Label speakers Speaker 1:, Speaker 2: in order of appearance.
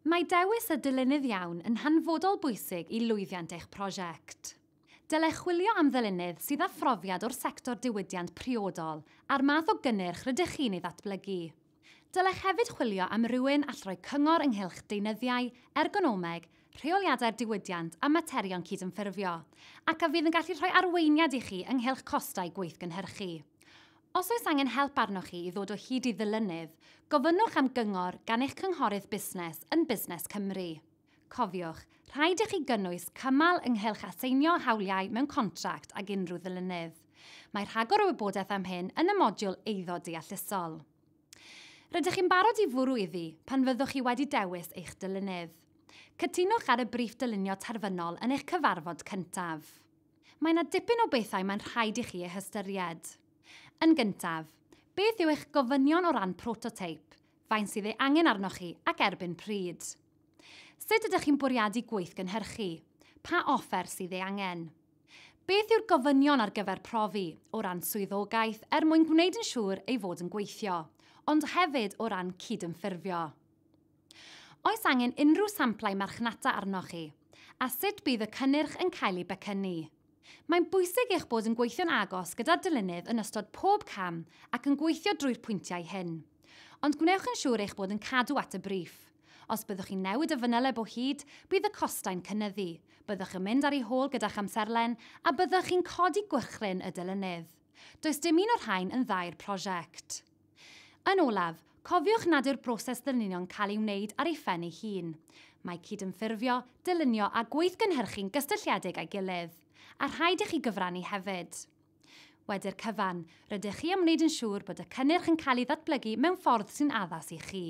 Speaker 1: Mae dewis y dylunydd iawn yn hanfodol bwysig i lwyddiant eich prosiect. Dylech chwilio am ddylunydd sydd â phrofiad o'r sector diwydiant priodol a'r math o gynnyrch rydych chi'n ei ddatblygu. Dylech hefyd chwilio am rywun all roi cyngor ynghylch deunyddiau, ergonomeg, rheoliadau'r diwydiant a materion cydymffurfio, ac a fydd yn gallu rhoi arweiniad i chi ynghylch costau gweithgynhyrchu. Os oes angen help arnoch chi i ddod o hyd i ddylunydd, gofynnwch am gyngor gan eich cynghorydd busnes yn Busnes Cymru. Cofiwch, rhaid i chi gynnwys cymal ynghylch aseinio hawliau mewn contract ag unrhyw ddylunydd. Mae rhagor o wybodaeth am hyn yn y modiwl Eiddo Deallusol. Rydych chi'n barod i fwrw iddi pan fyddwch chi wedi dewis eich dylunydd. Cytunwch ar y briff dylunio terfynol yn eich cyfarfod cyntaf. Mae yna dipyn o bethau mae'n rhaid i chi eu hystyried. Yn gyntaf, beth yw eich gofynion o ran prototeip, faint sydd ei angen arnoch chi ac erbyn pryd? Sut ydych chi'n bwriadu gweithgynhyrchu? Pa offer sydd ei angen? Beth yw'r gofynion ar gyfer profi o ran swyddogaeth er mwyn gwneud yn siŵr ei fod yn gweithio, ond hefyd o ran cydymffurfio? Oes angen unrhyw samplau marchnata arnoch chi? A sut bydd y cynnyrch yn cael ei becynnu? Mae'n bwysig eich bod yn gweithio'n agos gyda'r dylunydd yn ystod pob cam ac yn gweithio drwy'r pwyntiau hyn. Ond gwnewch yn siŵr eich bod yn cadw at y briff. Os byddwch chi'n newid y fanyleb o hyd, bydd y costau'n cynyddu, byddwch yn mynd ar ei hôl gyda'ch amserlen a byddwch chi'n codi gwychryn y dylunydd. Does dim un o'r rhain yn dda i'r prosiect. Yn olaf, cofiwch nad yw'r broses ddylunio'n cael ei wneud ar ei phen ei hun. Mae cydymffurfio, dylunio a gweithgynhyrchu'n gysylltiedig â'i gilydd, a rhaid i chi gyfrannu hefyd. Wedi'r cyfan, rydych chi am wneud yn siŵr bod y cynnyrch yn cael ei ddatblygu mewn ffordd sy'n addas i chi.